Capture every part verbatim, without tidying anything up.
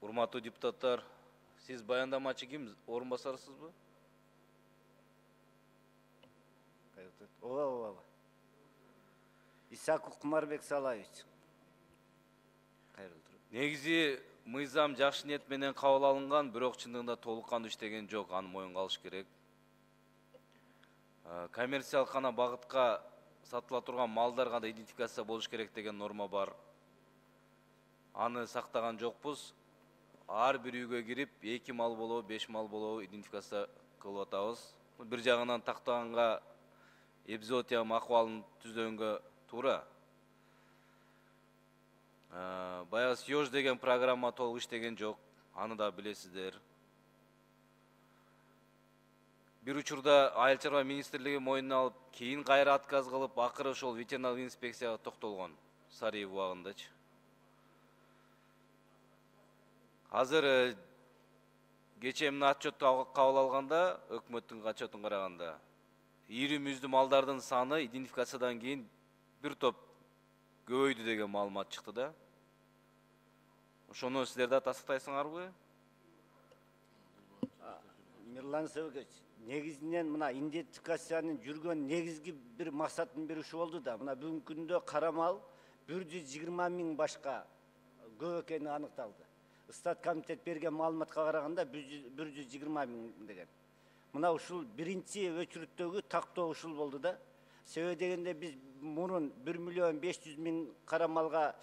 Урматтуу депутаттар, сиз баяндамачы ким, орун басарсызбы? Ооба, ооба. Исаков Кумарбек Салаевич. Негизи мыйзам жакшы ниет менен кабыл алынган, бирок чындыгында толук кандуу иштеген жок, аны моюнга алыш керек. Коммерциялык гана багытка сатыла турган малдар гана идентификация болуш керек деген норма бар. Аны сактаган жокпуз. Ар бир үйгө кирип, эки мал болобу, беш мал болобу идентификация кылып атабыз. Бир жагынан тактаганга эпизоотия акыбалын түзөнгө туура. Баягы Съёж деген программа толук иштеген жок, аны да билесиздер. Бир учурда Айыл чарба министрлиги мойнуна алып, кийин кайра отказ кылып, акыры ошол ветеринарлык инспекцияга токтолгон Сарыев убагындачы. Азыр кечээ мына отчетту кабыл алганда, өкмөттүн отчетун караганда, ири мүздүү малдардын саны идентификациядан кийин бир топ көбөйдү деген маалымат чыкты да. Ошону силер да тастыктайсыңарбы? Мирлан Сөбөкөч, негизинен мына идентификациянын жүргөн негизги бир максатын бир ушу болду да, мына бүгүнкү күндө кара мал бир жүз жыйырма миң башка көп экени аныкталды. Стат комитет берген маалыматка караганда бир жүз жыйырма миң деген. Мына ушул биринчи өчүрүттөгү тактоо ушул болду да. Себеби дегенде биз мурун бир миллион беш жүз миң кара малга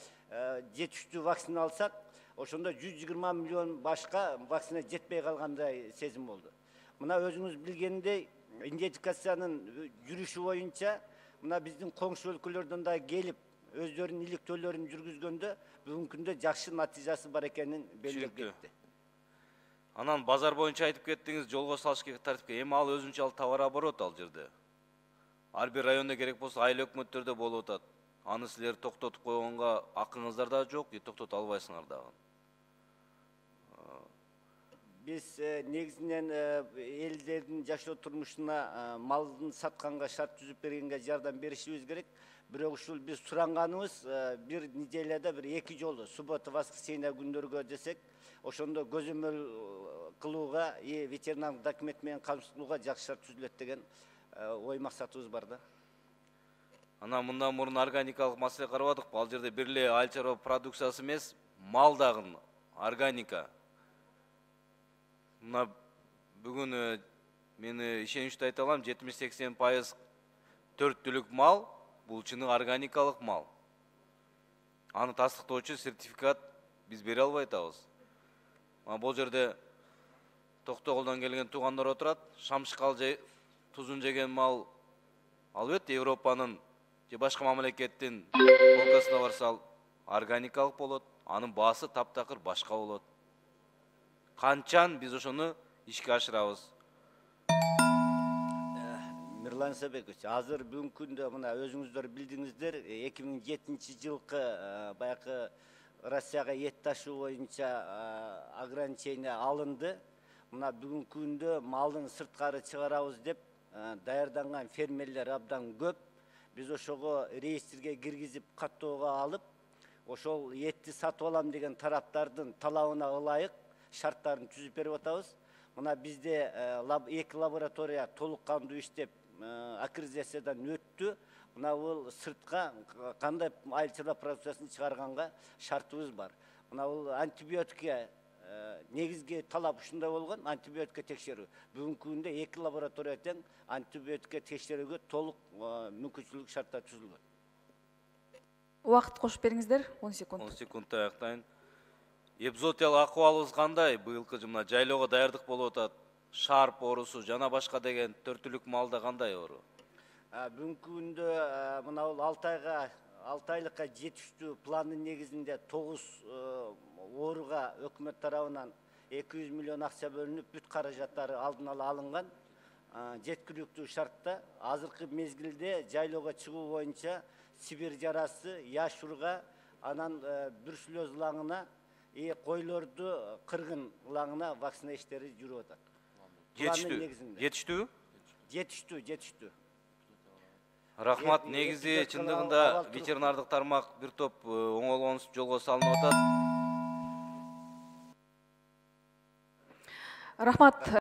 жетиштүү вакцина алсак, ошондо жүз жыйырма миллион башка вакцина жетпей калгандай сезим болду. Мына өзүңүз билгендей, идентификациянын жүрүшү боюнча, мына биздин коңшу өлкөлөрдөн да келип, өздөрүнүн иликтөөлөрүн жүргүзгөндө бүгүнкү күндө жакшы натыйжасы бар экенин белгилеп кетти. Анан базар боюнча айтып кеттиңиз, жолго салыш керек тартипке. Эми ал өзүнчө товар оборот ал жерде. Ар бир районда керек болсо айыл өкмөттөрдө болуп атат. Аны силер токтотуп койгонго акыңыздар да жок, токтото албайсыңар дагы. Биз негизинен элдердин жашоо турмушуна малдын сатканга шарт түзүп бергенге жардам беришибиз керек. Бирок ушул биз суранганыбыз бир неделяда бир эки жолу, суббота, воскресенье күндөргө десек, ошондо көзөмөл кылууга, ветеринардык документ менен камсыздоога жакшы шарт түзүлөт деген ой максатыбыз бар да. Анан мындан мурун органикалык маселе карабадыкпы? Ал жерде бир эле айыл чарба продукциясы эмес, мал дагы органика. Мына бүгүн мен ишеничтүү айта алам, жетимиш сексен пайыз төрт түлүк мал, бул чыны органикалык мал. Аны тастыктоочу сертификат биз бере албай атабыз. Бул жерде Токтогулдан келген туугандар отурат, шамшыкал тузун жеген мал албетте Европанын же башка мамлекеттин полкасына барса органикалык болот, анын баасы таптакыр башка болот. Канчан биз ошону ишке ашырабыз? Мирлан Сөбөкөч, азыр бүгүнкү күндө мына өзүңүздөр билдиңиздер, эки миң жетинчи жылкы баягы Россияга эт ташуу боюнча ограничение алынды. Мына бүгүнкү күндө малдын сырткары чыгарабыз деп даярданган фермерлер абдан көп. Биз ошого реестрге киргизип, каттоого алып, ошол этти сатып алам деген тараптардын талабына ылайык шарттарын түзүп берип атабыз. Мына бизде эки лаборатория толук кандуу иштеп, аккредитациядан өттү. Мына бул сыртка кандай айыл чарба продукциясын чыгарганга шартыбыз бар. Мына бул антибиотикке негизги талап ушундай болгон, антибиотикке текшерүү. Бүгүнкү күндө эки лаборатория тең антибиотикке текшерүүгө толук мүмкүнчүлүк шарттар түзүлгөн. Убакыт кошуп бериңиздер, он секунд. он секундта аяктайын. Эпизоотиялык акыбалыбыз кандай? Быйылкы мына жайлоого даярдык болуп атат. Шарп оорусу жана башка деген төрт түлүк малда кандай оору? Бүгүнкү күндө мына бул алты айга алты айлыкка жетиштүү пландын негизинде тогуз ооруга өкмөт тарабынан эки жүз миллион акча бөлүнүп, бүт каражаттары алдын ала алынган. Жеткиликтүү шартта азыркы мезгилде жайлоого чыгуу боюнча Сибирь жарасы, яшурга, анан бүрсүлөз ылаңына, койлорду кыргын ылаңына вакцина иштери жүрүп атат. Жетиштүү? Жетиштүү? Жетиштүү, жетиштүү. Рахмат, негизи чындыгында ветеринардык тармак бир топ оңолгон жолго салынып атат. Рахмат.